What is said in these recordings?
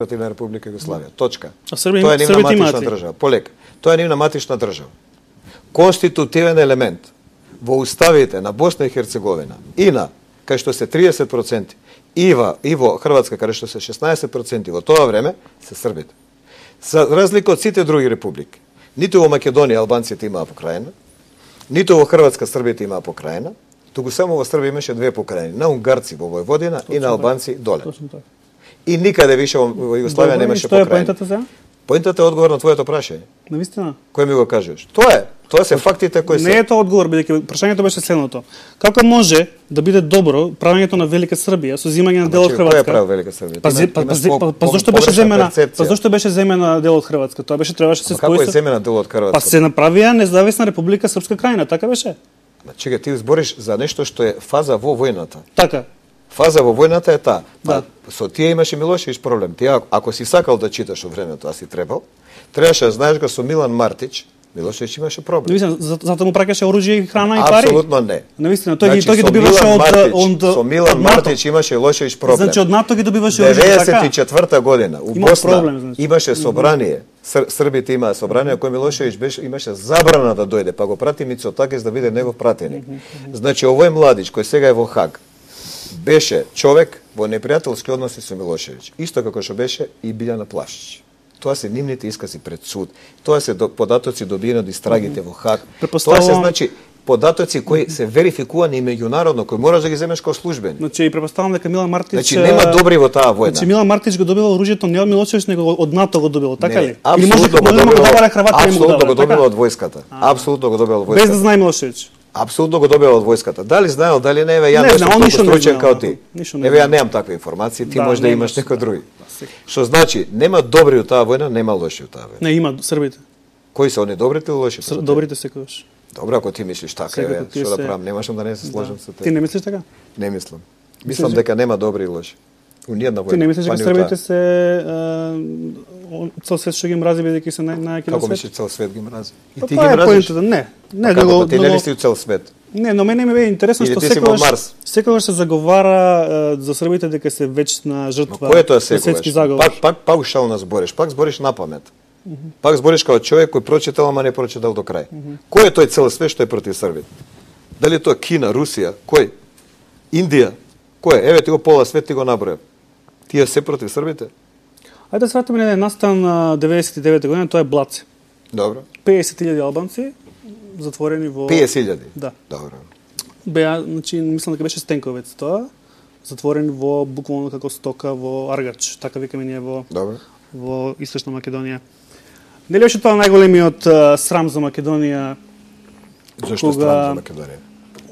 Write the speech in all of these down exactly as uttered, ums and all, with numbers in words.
на Република Југославија. Точка. А Србија, Тоа е нивна Србија матична држава. Полека. Тоа е нивна матична држава. Конститутивен елемент во уставите на Босна и Херцеговина и на кај што се триесет проценти и во, и во Хрватска кај што се шеснаесет проценти во тоа време се србите. За разлика од сите други републики. Ниту во Македонија албанците имаа покрајна, ниту во Хрватска србите имаа покрајна, туку само во Србија имаше две покрајни, на унгарци во Војводина и на албанци доле. И никаде више во Југославија немаше покрајни. Што е поентата за? Поентата е одговор на твоето прашање. Навистина? Кој ми го кажеш? Тоа е. Тоа се фактите кои се. Не е тоа одговор, бидејќи прашањето беше следното. Како може да биде добро правењето на Велика Србија со земање на дел од Хрватска? Кој е правил Велика Србија? Па, па, па, па зошто беше земена? Па зошто беше земена дел од Хрватска? Тоа беше требаше се спои. Како е земена дел од Хрватска? Па се направија независна Република Српска крајна, така беше. Чекај, ти збориш за нешто што е фаза во војната. Така. Фаза во војната е таа. Да. Па, со тие имаше Милошевиќ проблем. Ти ако си сакал да читаш од времето, а си требал, требаше да знаеш дека со Милан Мартич Милошевиќ имаше проблем. Навистина, затоа му праќаше оружје и храна и пари? Апсолутно не. Навистина, тој ги значи, тој ги добиваше од од со Милан Мартич имаше Милошевиќ проблем. Значи од НАТО ги добиваше оружје, така? деветдесет и четврта година у Има Босна проблем, значи. Имаше собрание. Ср Србите имаа собрание кој Милошевиќ беше имаше забрана да дојде, па го прати Мицотакис да биде негов пратеник. Значи овој младич кој сега е во Хаг беше човек во непријателски односи со Милошевиќ, исто како што беше и Билјана Плашич. Тоа се нивните искази пред суд. Тоа се до, податоци добиени од истрагите во Хаг. Тоа се значи податоци кои се верификувани и меѓународно, кои можеш да ги земеш како службени. Значи и претпоставам дека Милан Мартич Значи нема добри во таа војна. Значи Милан Мартич го добил оружјето не од Милошевиќ, него од НАТО го добил, така ли? Или може да го добил Апсолутно го добил од војската. Апсолутно го добил од војската. Без да знае Милошевиќ. Апсолутно го добил од војската. Дали знаел, дали не, еве ја не сум толку стручен како ти. Еве ја немам такви информации, ти може да имаш некој други. Што значи, нема добри у таа војна, нема лоши у таа војна. Не, има србите. Кои се они, добрите или лошите? Добрите секогаш. Добро, ако ти мислиш така, еве, што да правам, немашам да не се сложам со те. Ти не мислиш така? Не мислам. Мислам дека нема добри и лоши. У ниједна војна. Ти не мислиш дека србите се цел свет што ги мрази бидејќи се најаки на свет? Како мислиш цел свет ги мрази? И ти ги мразиш? Не, не, како ти не мислиш цел свет? Не, но мене ми бе интересно што секогаш секогаш се заговара за србите дека се вечна жртва на светски заговор. Пак пак паушално збориш, пак збориш напамет. Mm -hmm. Пак збориш како човек кој прочитал, ама не прочитал до крај. Mm -hmm. Кој е тој цел свет што е против Србите? Дали тоа Кина, Русија, кој? Индија? Кој е? Еве ти го пола свет ти го наброја. Тие се против Србите? Ајде да сватиме на настан на деветдесет и девета година, тоа е Блаце. Добро. педесет илјади албанци затворени во педесет илјади. Да. Добро. Беа, значи мислам дека беше Стенковец тоа, затворени во буквално како стока во Аргач, така викаме ние во Добро. Во Источна Македонија. Нели беше тоа најголемиот uh, срам за Македонија? Зошто кога, срам за Македонија?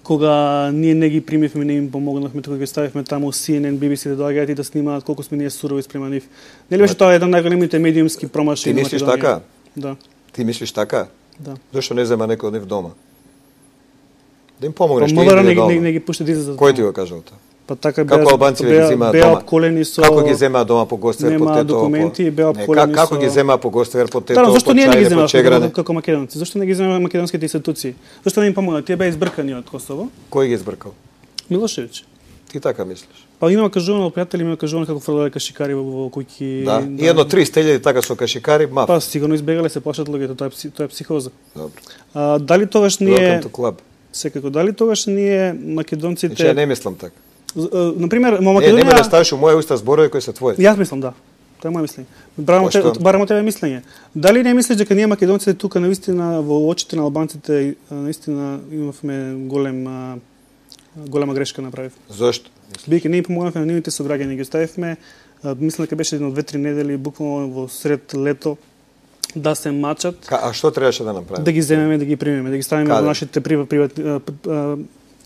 Кога ние не ги примивме, не им помогнавме, тука ги ставивме таму Си Ен Ен, Би Би Си да доаѓаат и да снимаат колку сме ние сурови спрема нив. Нели беше тоа еден најголемите медиумски промашаи на Македонија? Ти мислиш така? Да. Ти мислиш така? Да. Зошто не зема некој од нив дома? Да им помогнеш, па, ти не, дома. не, не ги пушти да излезат. Кој ти го кажал тоа? Па така како беа, албанци беа, ги земаат беа дома? обколени со Како ги земаат дома по Гостивер по Нема Тетово? документи, беа обколени како со ги земаат по Гостивер по Тетово? Да, зошто ние не ги земавме Чегране? како македонци? Зошто не ги земавме македонските институции? Зошто не им помогнаа? Тие беа избркани од Косово. Кој ги избркал? Милошевиќ. Ти така мислиш? Па има кажувано, пријатели има кажувано како фрлале кашикари во, во куќи. Да. да. И едно триста илјади така со кашикари, мав. Па сигурно избегале, се плашат луѓето, тоа е тоа е психоза. Добро. А, дали тогаш ние Welcome to club. Секако дали тогаш ние македонците Значи, не мислам така. На пример, во Македонија Не, нема да ставиш у моја уста зборови кои се твои. Јас мислам да. Тоа е моје мислење. Барам те, барам тебе мислење. Дали не мислиш дека ние македонците тука навистина во очите на албанците наистина имавме голем голема грешка направив? Зошто? Бидејќи не им помогнавме на нивните сограѓани, ги оставивме, мислам дека беше едно две-три недели буквално во сред лето да се мачат. Ка, а што требаше да направиме? Да ги земеме, да ги примеме, да ги ставиме во нашите приватни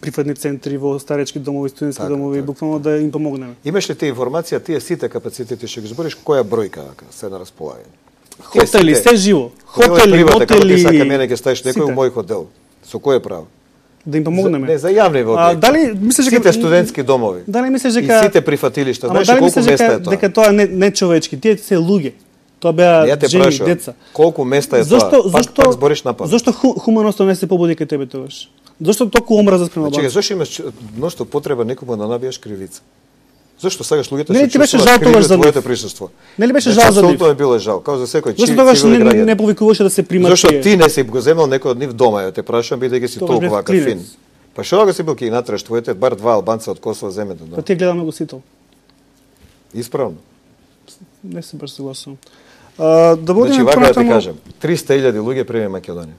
прифатни центри, во старечки домови, студентски така, домови, така. Буквално да им помогнеме. Имаш ли ти информација, тие сите капацитети што ги збориш, која бројка се на располагање? Хотели, се живо. Хотели, мотели. Како ти сака мене ќе ставиш некој у мој хотел. Со кој право? Да им помогнеме. За, не, за јавни објекти. А дали мислиш дека сите студентски домови? Дали мислиш дека и сите прифатилишта, знаеш дали колку места е тоа? Дека тоа не не човечки, тие се луѓе. Тоа беа жени, деца. Колку места е зашто, тоа? Зашто, пак, пак збориш напад. Зошто ху, хуманоста не се побуди кај тебе тогаш? Зошто толку омраза спрема албанците? Чекај, зошто имаш мноштво потреба некому да набиеш кривица? Зошто сакаш луѓето се чувствуваат криви од твоето присуство? Нели беше жал за нив? Апсолутно ми било жал, као за секој чив. Зошто тогаш не, не, не повикуваше да се примат? Зошто ти не си го земал некој од нив дома, ја те прашувам бидејќи си толку вака фин. Па што го си бил ки натраш твоите бар два албанца од Косово земете дома? Па ти гледаме го сител. Исправно. Не се баш согласувам. А, да водиме значи, вака пратамо... да ти кажам, триста илјади луѓе прими Македонија.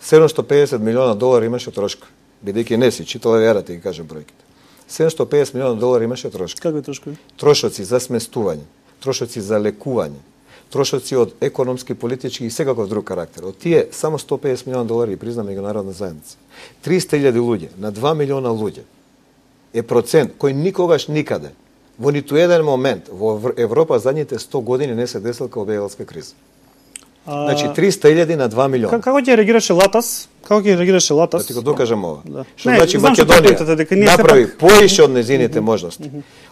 седумстотини и педесет милиона долари имаше трошка. Бидејќи не си читал вера ти ги кажам бројките. седумстотини и педесет милиона долари имаше трошка. Какви трошкови? Трошоци за сместување, трошоци за лекување, трошоци од економски, политички и секаков друг карактер. Од тие само сто и педесет милиона долари призна меѓународна заедница. триста илјади луѓе на два милиона луѓе е процент кој никогаш никаде во ниту еден момент во Европа задните сто години не се десил као бегалска криза. А... Значи триста илјади на два милиона. Како ќе реагираше Латас? Како ќе реагираше Латас? Да ти го докажам ова. Да. Што значи Македонија направи пак... поише од незините можности.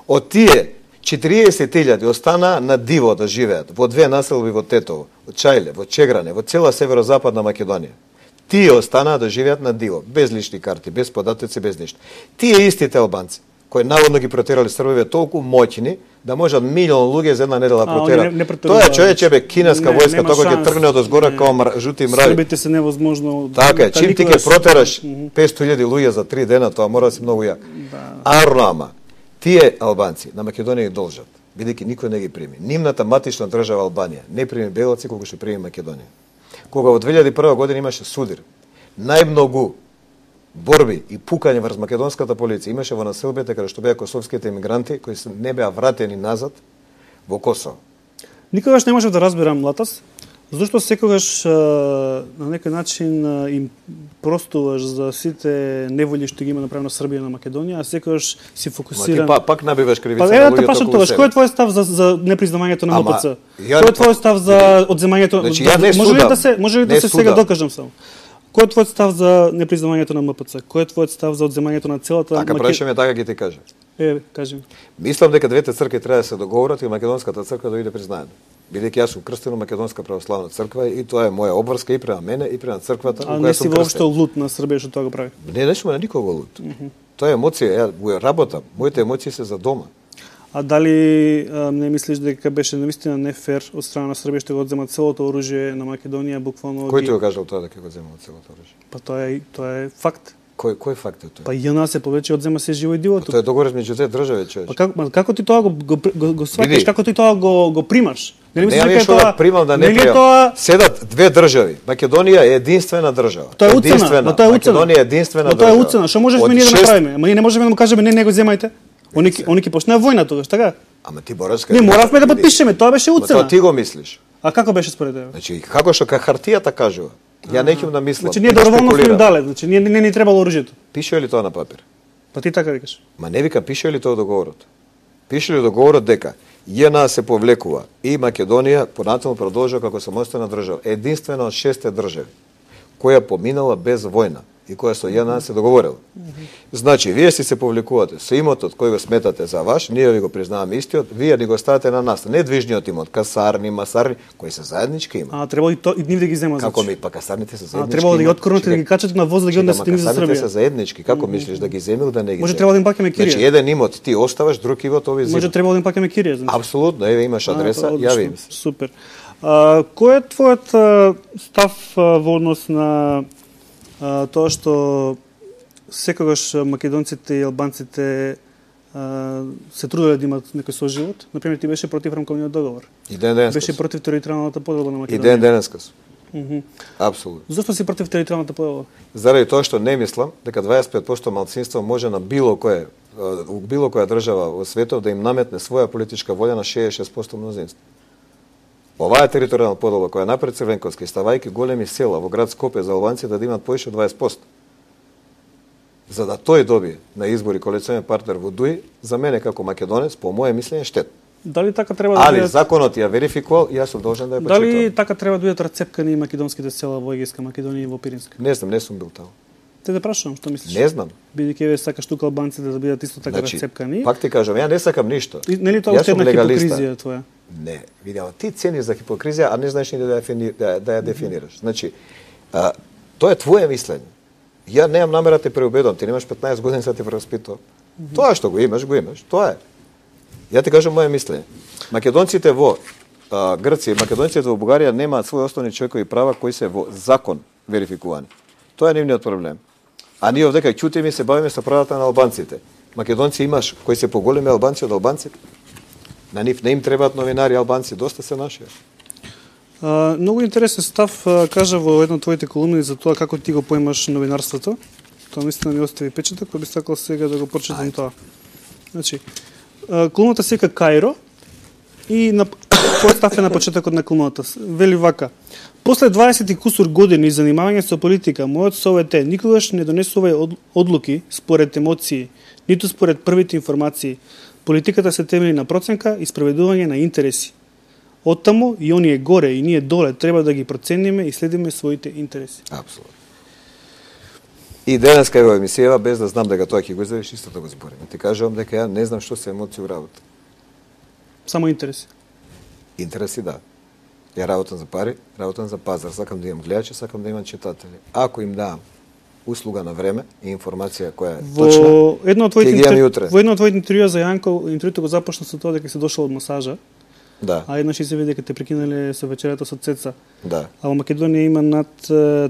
Од тие четириесет илјади остана на диво да живеат во две населби во Тетово, во Чајле, во Чегране, во цела северозападна Македонија. Тие останаа да живеат на диво, без лични карти, без податоци, без ништо. Тие истите албанци кои наводно ги протерали србиве толку моќни да можат милион луѓе за една недела протерат. Тоа е човече бе кинеска не, војска тоа ќе тргне од озгора као мр... жути мрави. Србите се невозможно. Така е, чим ти ќе протераш петстотини илјади луѓе за три дена, тоа мора да си многу јак. Да. Арно тие албанци на Македонија ги должат, бидејќи никој не ги прими. Нивната матична држава Албанија не прими бегалци колку што прими Македонија. Кога во две илјади и прва година имаше судир, најмногу борби и пукање врз македонската полиција имаше во населбите каде што беа косовските емигранти кои се не беа вратени назад во Косово. Никогаш не можев да разберам, Латас, зашто секогаш на некој начин им простуваш за сите неволји што ги има направено Србија на Македонија, а секогаш си фокусиран. Па, пак набиваш кривица па, на луѓето околу себе. Кој е твојот став за, за непризнавањето на МПЦ? Ја... Кој е твојот став за одземањето? Значи, ја не може судам. ли да се, може ли да се сега докажам само? Кој е твојот став за непризнавањето на МПЦ? Кој е твојот став за одземањето на целата Така Маке... прашаме така ги ти кажа. Е, кажи. Мислам дека двете цркви треба да се договорат и македонската црква да биде признаена. Бидејќи јас сум крстен во Македонска православна црква и тоа е моја обврска и према мене и према црквата во која сум крстен. А не си воопшто лут на Србија што тоа го прави? Не, не сум на никого лут. Mm -hmm. Тоа е емоција, ја го работам. Моите емоции се за дома. А дали а, не мислиш дека беше навистина не фер од страна на Србија што го одземат целото оружје на Македонија буквално? Кој ти го кажал тоа дека го земат целото оружје? Па тоа е тоа е факт. Кој кој факт е тоа? Па ЈНА се повеќе одзема се живо и диво тука. Тоа е договор меѓу две држави, човече. Па како како ти тоа го го го, го сваќаш, како ти тоа го го примаш? Нели мислиш дека тоа примам да не примам? Тоа... Седат две држави. Македонија е единствена држава. Тоа е уцена, но тоа е уцена. Македонија е единствена држава. Тоа е уцена. Што можеш ние да направиме? Ама ние не можеме да му кажеме не, не го земајте. Они они ќе почнаа војна тогаш, така? Ама ти бораш Не моравме да подпишеме, тоа беше уцена. Тоа ти го мислиш. А како беше според тебе? Значи како што ка хартијата кажува. Ја не ќе да мислам. Значи ние доброволно сме им дале, значи ние не ни требало оружјето. Пише ли тоа на папир? Па ти така викаш. Ма не вика пише ли тоа договорот? Пише ли договорот дека ЈНА се повлекува и Македонија понатаму продолжува како самостојна држава, единствена од шесте држави која поминала без војна и која со ЈНА се договорила. Значи, вие си се повлекувате со имотот кој го сметате за ваш, ние ви го признаваме истиот, вие ни го ставате на нас, не движниот имот, касарни, масарни, кои се заеднички има. А требало и то и нив да ги земат. Како ми па касарните се заеднички? А требало да ги откорнете да ги качате на воз да ги однесете низ за Србија. Касарните се заеднички, како мислиш да ги земил да не ги? Може требало да им пакеме кирија. Значи еден имот ти оставаш, друг имот ови земат. Може требало да им пакеме кирија, значи. Апсолутно, еве имаш адреса, јави им се. Супер. А, кој е твојот а, став а, во однос на а, тоа што секогаш македонците и албанците а, се труделе да имат некој соживот? Например, ти беше против рамковниот договор. И ден денес. Беше против територијалната поделба на Македонија. И ден денеска. Mm -hmm. Апсолутно. Зошто си против територијалната поделба? Заради тоа што не мислам дека дваесет и пет проценти малцинство може на било кое у било која држава во светот да им наметне своја политичка волја на шеесет и шест проценти мнозинство. Оваа територијална поделба која напред Црвенковски ставајќи големи села во град Скопје за албанците да имат поише од дваесет проценти. За да тој добие на избори коалиционен партнер во ДУИ, за мене како македонец, по моје мислење, штет. Дали така треба да Али бидат... законот ја верификувал и јас сум должен да ја почитувам. Дали така треба да бидат рацепкани и македонските села во Егејска Македонија и во Пиринска? Не знам, не сум бил таму. Те да прашувам, што мислиш? Не знам. Бидејќи еве сакаш тука албанците да бидат исто така значи, рацепкани. Пак ти кажам, ја не сакам ништо. И, нели тоа уште една хипокризија твоја? Не, видимо, ти цениш за хипокризија, а не знаеш ни да ја, да, да ја дефинираш. Значи, а, тоа е твое мислење. Ја немам намера да те преубедам, ти немаш петнаесет години да те прераспитувам. Mm -hmm. Тоа што го имаш, го имаш, тоа е. Ја ти кажам моје мислење. Македонците во а, Грција, македонците во Бугарија немаат своји основни човекови права кои се во закон верификувани. Тоа е нивниот проблем. А ние овдека ќутиме и се бавиме со правата на албанците. Македонци имаш кои се поголеми албанци од албанците. На нив не им требаат новинари албанци, доста се наши. А, многу интересен став а, кажа во една од твоите колумни за тоа како ти го поимаш новинарството. Тоа наистина ми остави печаток, па би сакал сега да го прочитам тоа. Значи, а, колумната се вика Кајро и на твојот став е на почетокот на колумната. Вели вака: после дваесет и кусур години занимавање со политика, мојот совет е никогаш не донесувај одлуки според емоции, ниту според првите информации. Политиката се темели на проценка и спроведување на интереси. Оттаму и оние горе и ние доле треба да ги процениме и следиме своите интереси. Апсолутно. И денеска во емисијава, без да знам дека тоа ќе го изявиш, исто да го збориме. Ти кажувам дека ја не знам што се емоции у работа. Само интереси. Интереси, да. Ја работам за пари, работам за пазар. Сакам да имам гледачи, сакам да имам читатели. Ако им давам услуга на време и информација која е во точна, едно од твоите интервју, во едно од твоите интервјуа за Јанко, интервјуто го започна со тоа дека си дошол од масажа. Да. А еднаш се види дека те прекинале со вечерата со Цеца. Да. А во Македонија има над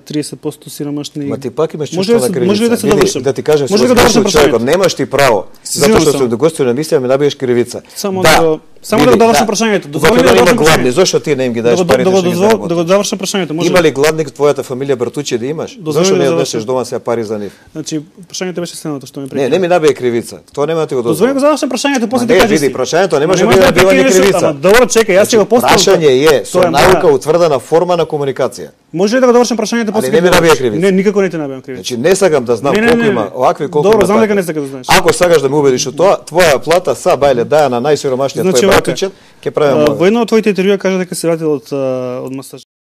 триесет проценти сиромашни. Ма ти пак имаш може чувство на кривица. Може ли да се довршам? Да ти кажам, може да довршам прашањето. Немаш ти право. Затоа што сум догостуван на емисија ми набиеш кривица. Само да, да само да го довршам прашањето. Дозволи ми да има гладни, зошто ти не им ги даеш парите што ги заработиш? Да го довршам прашањето, може. Има ли гладни твојата фамилија братучи да имаш? Зошто не однесеш дома се пари за нив? Значи, прашањето беше следното што ме прекина. Не, не ми набие кривица. Тоа нема да ти го дозволам. Дозволи го завршам прашањето, после ти кажеш. Не, види, прашањето не може да биде ни кривица. Добро, чекај, јас ќе го поставам. Прашање е со наука утврдена форма на комуникација. Може ли да го довршам прашањето после? Не ми набија кривица. Не, никако не те набијам кривица. Значи не сакам да знам колку има овакви колку. Добро, знам дека не сакаш да знаеш. Ако сакаш да ме убедиш во тоа, твоја плата са бајле даја на најсиромашниот твој братичен, ќе правиме. Во едно од твоите интервјуа кажа дека се вратил од од масаж.